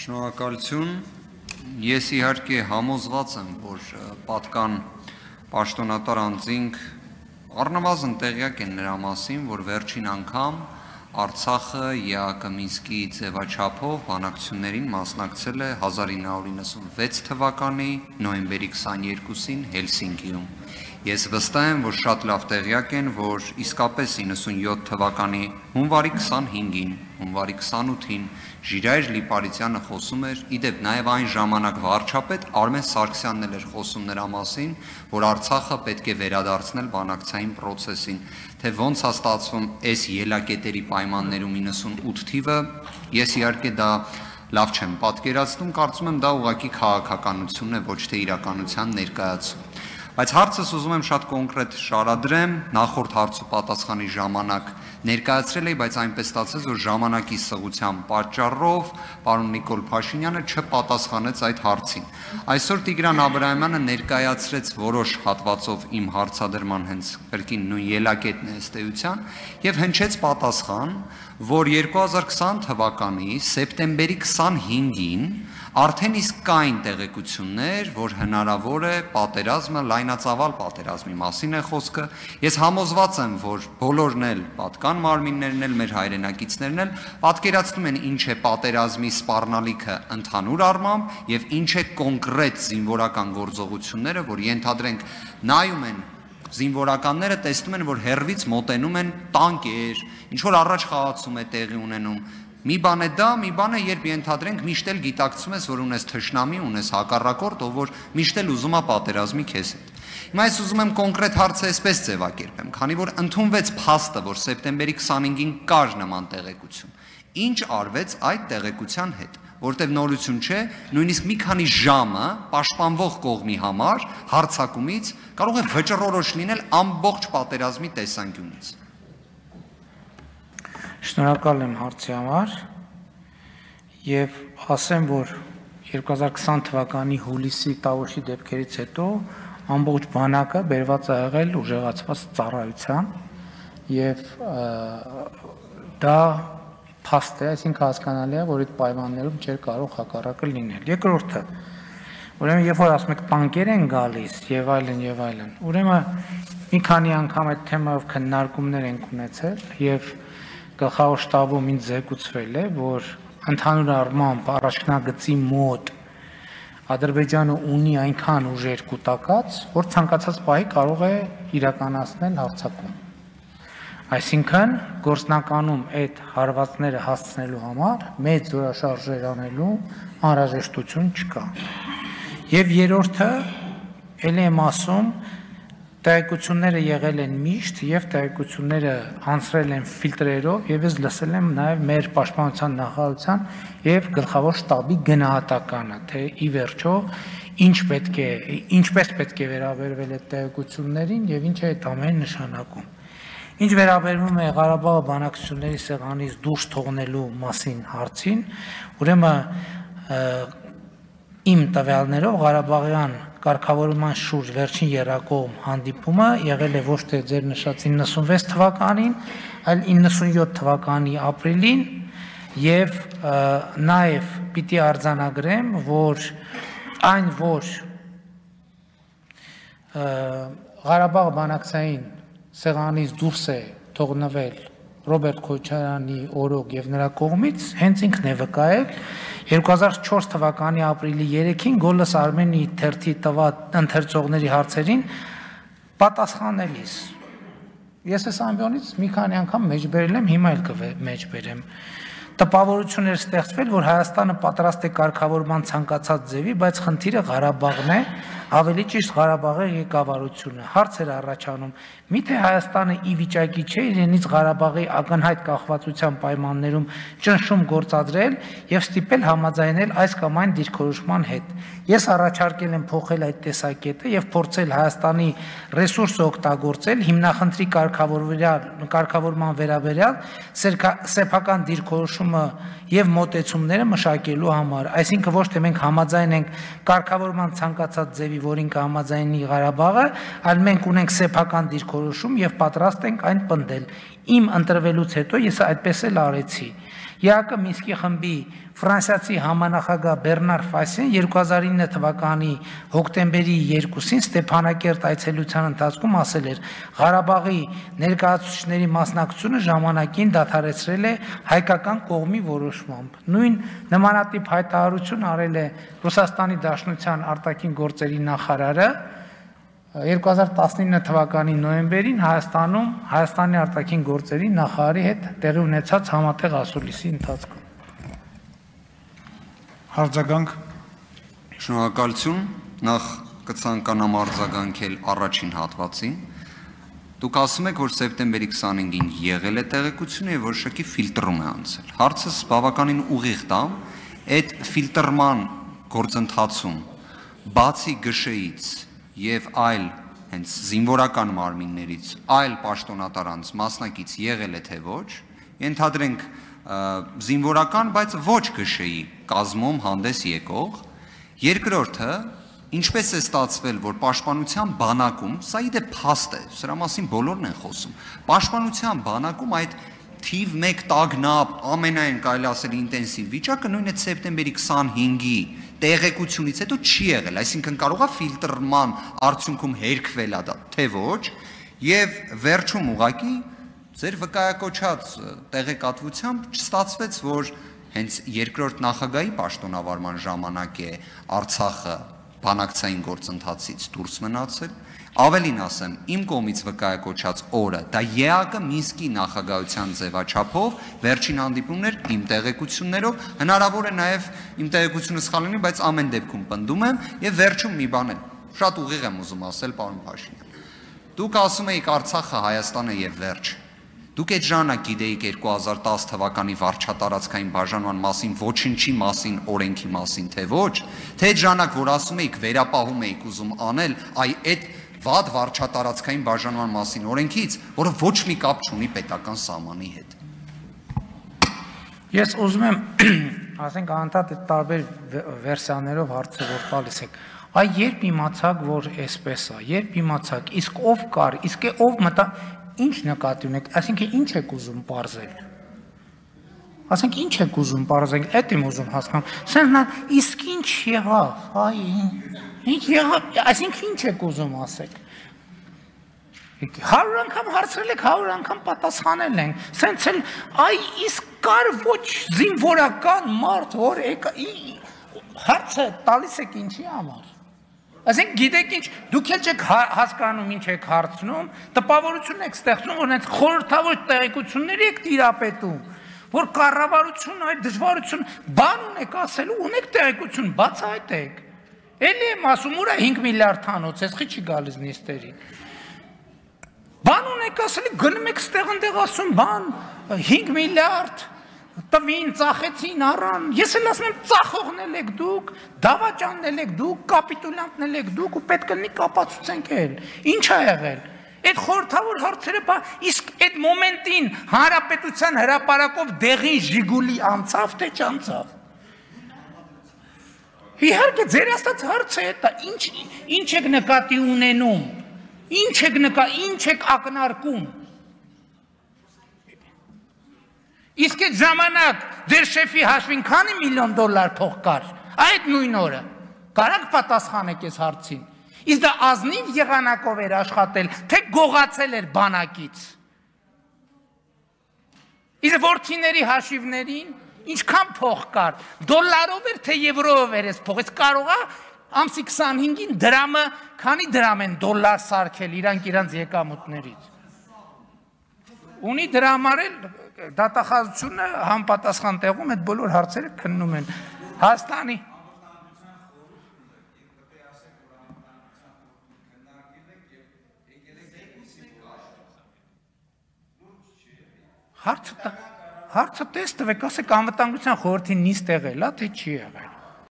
Շնորհակալություն, ես իհարկե համոզված եմ, որ պատկան պաշտոնատար անձինք առնվազն տեղյակ են նրա մասին, որ վերջին անգամ Արցախը ԵԱՀԿ Մինսկի ձևաչափով բանակցություններին մասնակցել է 1996 թվականի նոյեմբերի 22-ին Հելսինկիում։ Ես վստահ եմ, որ շատ լավ տեղյակ են, որ իսկապես 97 թվականի հունվարի 25-ին, հունվարի 28-ին Ժիրայր Լիպարիցյանը խոսում էր, իդեպ նաև այն ժամանակ վարչապետ Արմեն Սարգսյանն էր խոսում նրա մասին, որ Արցախը պետք է վերադարձնել բանակցային process-ին, թե ոնց է ստացվում այս ելակետերի պայմաններում 98 թիվը, ես իհարկե դա լավ չեմ պատկերացնում, կարծում եմ դա ուղղակի քաղաքականություն է, ոչ թե իրականության ներկայացում։ Բայց հարցս ուզում եմ շատ կոնկրետ շարադրեմ, նախորդ հարց ու պատասխանի ժամանակ ներկայացրել էի, բայց այնպես ստացեց, որ ժամանակի սղության պատճառով պարոն Նիկոլ Փաշինյանը չպատասխանեց այդ հարցին։ Այսօր Տիգրան Աբրահամյանը ներկայացրեց որոշ հատվածով իմ հարցադրման հենց կրկին նույն ելակետն է ըստ էության եւ հնչեց պատասխան, որ 2020 թվականի սեպտեմբերի 25-ին արդեն իսկ կային տեղեկություններ, որ հնարավոր է պատերազմը, լայնածավալ պատերազմի մասին է խոսքը։ Ես համոզված եմ, որ բոլորն էլ, պատկան մարմիններն էլ, մեր հայրենակիցներն էլ պատկերացնում են ինչ է պատերազմի սպառնալիքը ընդհանուր առմամբ եւ ինչ է կոնկրետ զինվորական գործողությունները, որ ենթադրենք նայում են զինվորականները տեսնում են, որ հեռվից մոտենում են տանկեր, ինչ որ առաջ խաղացում է տեղի ունենում։ Մի բան է դա, մի բան է, երբ ենթադրենք միշտ էլ գիտակցում ես, որ ունես թշնամի, ունես հակառակորդ, ով որ միշտ էլ ուզում է պատերազմի քեզ հետ։ Հիմա ես ուզում եմ կոնկրետ հարցը այսպես ձևակերպեմ, քանի որ ընդունվեց փաստը, որ սեպտեմբերի 25-ին կար նման տեղեկություն։ Ինչ արվեց այդ տեղեկության հետ, որտեղ նորություն չէ, նույնիսկ մի քանի ժամը պաշտպանվող կողմի համար հարձակումից կարող է վճռորոշ լինել ամբողջ պատերազմի տեսանկյունից։ Շնորհակալ եմ հարցի համար եւ ասեմ, որ 2020 թվականի հուլիսի տավուշի դեպքերից հետո ամբողջ բանակը բերված է եղել ուժեղացված ծառայության եւ դա փաստ է, այսինքն հասկանալի է, որ այդ պայմաններում չէր կարող հակառակը լինել։ Երկրորդը, ուրեմն երբ որ ասում եք տանկեր են գալիս եւ այլն, ուրեմն մի քանի անգամ այդ թեմայով քննարկումներ ենք ունեցել եւ գլխավոր շտաբում ինձ զեկուցվել է, որ ընդհանուր առմամբ առաջնագծի մոտ Ադրբեջանը ունի այնքան ուժեր կուտակած, որ ցանկացած պահի կարող է իրականացնել հարձակում։ Այսինքն գործնականում այդ հարվածները հասցնելու համար մեծ զորաշարժեր անելու անհրաժեշտություն չկա։ Եվ երրորդը, ելի եմ ասում, տեղեկությունները եղել են միշտ եւ տեղեկությունները անցրել են ֆիլտրերով եւ ես լսել եմ նաեւ մեր պաշտպանության նախարարության եւ գլխավոր շտաբի գնահատականը, թե ի վերջո ինչպես պետք է վերաբերվել այդ տեղեկություններին եւ ինչ է այդ ամենը նշանակում։ Ինչ վերաբերվում է Ղարաբաղի բանակցությունների սեղանից դուրս թողնելու մասին հարցին, ուրեմն իմ տվյալներով Ղարաբաղյան կարգավորման շուրջ վերջին երակողմ հանդիպումը եղել է ոչ թե ձեր նշած 96 թվականին, այլ 97 թվականի ապրիլին եւ նաեւ պիտի արձանագրեմ, որ այն որ Ղարաբաղ բանակցային սեղանից դուրս է թողնվել Ռոբերտ Քոչարյանի օրոք եւ նրա կողմից հենց ինքն է վկայել 2004 թվականի ապրիլի 3-ին Գոլս Արմենի թերթի տված ընթերցողների հարցերին պատասխանելիս։ Ես այս ամբիոնից մի քանի անգամ մեջբերել եմ, հիմա էլ կմեջբերեմ։ Տպավորություն էր ստեղծվել, որ Հայաստանը պատրաստ է կարգավորման ցանկացած ձևի, բայց խնդիրը Ղարաբաղն է, ավելի ճիշտ Ղարաբաղի ղեկավարությունը։ Հարց էր առաջանում. միթե Հայաստանը ի վիճակի չէ իրենից Ղարաբաղի ակնհայտ կախվածության պայմաններում ճնշում գործադրել եւ ստիպել համաձայնել այս կամ այն դիրքորոշման հետ։ Ես առաջարկել եմ փոխել այդ տեսակետը եւ փորձել Հայաստանի ռեսուրսը օգտագործել հիմնախնդրի կարգավորման վերաբերյալ սեփական դիրքորոշումը եւ մոտեցումները մշակելու համար, այսինքն ոչ թե մենք համաձայն ենք կարգավորման ցանկացած ձևի, որին կհամաձայնի Ղարաբաղը, այլ մենք ունենք սեփական դիրքորոշում եւ պատրաստ ենք այն պնդել։ Իմ ընտրվելուց հետո ես այդպես էլ արեցի։ ԵԱԿ Մինսկի խմբի ֆրանսիացի համանախագահ Բեռնար Ֆասեն 2009 թվականի հոկտեմբերի 2-ին Ստեփանակերտ այցելության ընթացքում ասել էր. Ղարաբաղի ներկայացուցիչների մասնակցությունը ժամանակին դադարեցրել է հայկական կողմի որոշմամբ։ Նույն նմանատիպ հայտարարություն արել է Ռուսաստանի Դաշնության արտաքին գործերի նախարարը 2019 թվականի նոյեմբերին Հայաստանի արտաքին գործերի նախարարի հետ տեղի ունեցած համատեղ ասուլիսի ընթացքում։ Արձագանք։ Շնորհակալություն, նախ կցանկանամ արձագանքել առաջին հատվածին։ Դուք ասում եք, որ սեպտեմբերի 25-ին եղել է տեղեկությունը եւ որոշակի ֆիլտրում է անցել։ Հարցս բավականին ուղիղ տամ, այդ ֆիլտրման գործընթացում բացի ԳՇ-ից եւ այլ հենց զինվորական մարմիններից այլ պաշտոնատարանց մասնակից եղել է թե ոչ, ենթադրենք զինվորական, բայց ոչ ԳՇ-ի կազմում հանդես եկող, երկրորդը ինչպես է ստացվել, որ պաշտպանության բանակում, սա իդե փաստ է, սրա մասին բոլորն են խոսում, պաշտպանության բանակում այդ թիվ 1 տագնապ ամենայն կարելի ասել ինտենսիվ վիճակը նույն այդ սեպտեմբերի 25-ի տեղեկությունից հետո չի եղել, այսինքն կարող է ֆիլտրման արդյունքում հերքվել է դա, թե ոչ, եւ վերջում ուղղակի ձեր վկայակոչած տեղեկատվությամբ չստացվեց, որ հենց երկրորդ նախագահի պաշտոնավարման ժամանակ է Արցախը բանակցային գործընթացից դուրս մնացել, ավելին ասեմ, իմ կողմից վկայակոչած օրը, դա ԵԱԿ Մինսկի նախագահության ձևաչափով վերջին հանդիպումն էր իմ տեղեկություններով, հնարավոր է նաև իմ տեղեկությունը սխալ լինի, բայց ամեն դեպքում պնդում եմ եւ վերջում մի բան էլ, շատ ուղիղ եմ ուզում ասել, պարոն Փաշինյան։ Դուք ասում եք Արցախը Հայաստանը եւ վերջ։ Դուք այդ ժամանակ գիտեիք 2010 թվականի վարչատարածքային բաժանման մասին, ոչինչի մասին, օրենքի մասին, թե ոչ, թե այդ ժամանակ, որ ասում եք վերապահում եք ուզում անել, այդ վատ վարչատարածքային բաժանման մասին օրենքից, որը ոչ մի կապ չունի պետական սահմանի հետ։ Ես ուզում եմ, ասենք անդադ այդ տարբեր վերսիաներով հարցը որ տալիս եք, այ երբ իմացաք, որ էսպես է, երբ իմացաք, իսկ ով կար, իսկ ով մտա, ինչ նկատի ունեք, այսինքն ինչ եք ուզում պարզել։ Ասենք ինչ եք ուզում պարզել, այդ եմ ուզում հասկանալ։ Սենքն իսկ ինչ եղավ, այ ինչ եղավ, այսինքն ինչ եք ուզում ասեք։ 100 անգամ հարցրել եք, 100 անգամ պատասխանել ենք։ Սենց էլ այ իսկ կար ոչ զինվորական մարդ, որ հարցը տալիս եք ինչի համար։ Ասենք գիտեք ինչ, դուք էլ չեք հասկանում ինչ եք հարցնում, տպավորություն եք ստեղծում, որ հենց խորհրդավոր տեղեկությունների եք տիրապետում, որ կառավարությունը այդ դժվարություն բան ունեք ասելու, ունեք տեղեկություն, բացահայտեք։ Էլի եմ ասում, ուր է 5 միլիարդ հանոց, էսի չի գալիս նիստերին։ Բան ունեք ասելի, գնում եք ստեղ ընդեղ ասում, բան 5 միլիարդ տվին, ծախեցին, առան, ես էլ ասում եմ ծախողնել եք դուք, դավաճաննել եք դուք, կապիտուլյանտնել եք դուք ու պետք է կապացուցենք էլ, ինչ է եղել, այդ խորհրդավոր հարցերը, իսկ այդ մոմենտին հանրապետության հրապարակով դեղին Ժիգուլի անցավ, թե չանցավ, իհարկե ձեր աստած հարցը է, ինչ եք նկատի ունենում, ինչ եք ակնարկում, իսկ այդ ժամանակ ձեր շեֆի հաշվին քանի միլիոն դոլար փող կար, այդ նույն օրը, կարաք պատասխանեք այս հարցին, իսկ դա ազնիվ եղանակով էր աշխատել, թե գողացել էր բանակից, իսկ որդիների հաշիվներին, ինչքան փող կար, դոլարով էր, թե եվրոյով էր այս փող, այս կարող է ամսի 25-ին դրամը, քանի դրամ են դոլար սարքել իրանք եկամուտներից, ունի դրամարել, դատախազությունը համապատասխան տեղում այդ բոլոր հարցերը քննում են Հայաստանի հարցը տեստվեք, ասեք անվտանգության խորհրդի նիստ եղել է, թե չի եղել